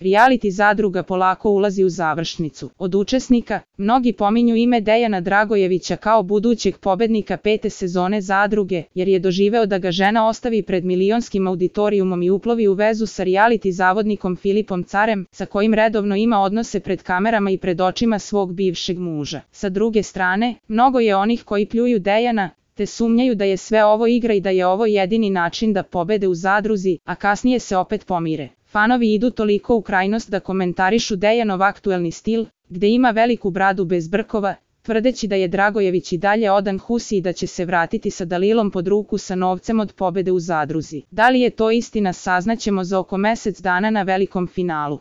reality zadruga polako ulazi u završnicu. Od učesnika, mnogi pominju ime Dejana Dragojevića kao budućeg pobednika 5. sezone zadruge, jer je doživeo da ga žena ostavi pred milionskim auditorijumom i uplovi u vezu sa reality zavodnikom Filipom Carem, sa kojim redovno ima odnose pred kamerama i pred očima svog bivšeg muža. Sa druge strane, mnogo je onih koji pljuju Dejana, te sumnjaju da je sve ovo igra i da je ovo jedini način da pobede u zadruzi, a kasnije se opet pomire. Fanovi idu toliko u krajnost da komentarišu Dejanov aktuelni stil, gde ima veliku bradu bez brkova, tvrdeći da je Dragojević i dalje odan husi i da će se vratiti sa Dalilom pod ruku sa novcem od pobede u zadruzi. Da li je to istina, saznaćemo za oko mesec dana na velikom finalu.